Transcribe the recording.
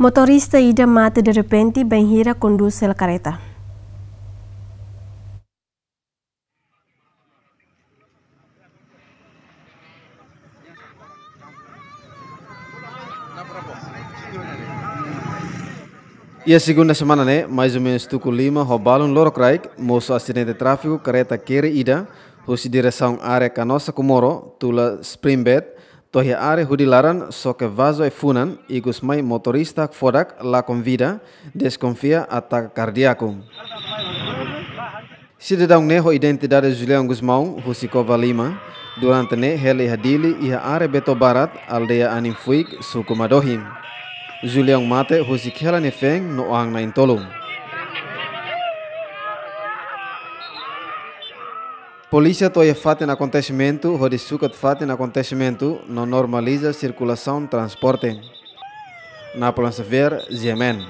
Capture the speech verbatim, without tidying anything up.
Motorista ida mate derrepente bainhira kondús hela karreta. Iha segunda semana ne'e, mais ou menos tuku lima ho balun lorokraik, mosu asidente tráfiku karreta kere ida, husi diresaun área Canossa Comoro, tula Springbed, to'o iha área Hudi Laran, xoke vazu ai-funan, ikusmai motorista hakfodak lakon vida, deskonfia atake kardíaku. Sidadaun ne'e ho identidade Julião Gusmão, husi Covalima, durante ne'e hela iha Dili, iha área Beto Barat, aldeia Anin Fuik, suku Madohi. Julião mate husik hela nia feen no an na'in-tolu. Polísia to'o iha fatin akontesimentu hodi sukat fatin akontesimentu no normaliza sirkulasaun transporte. Napoleon Xavier, G M N.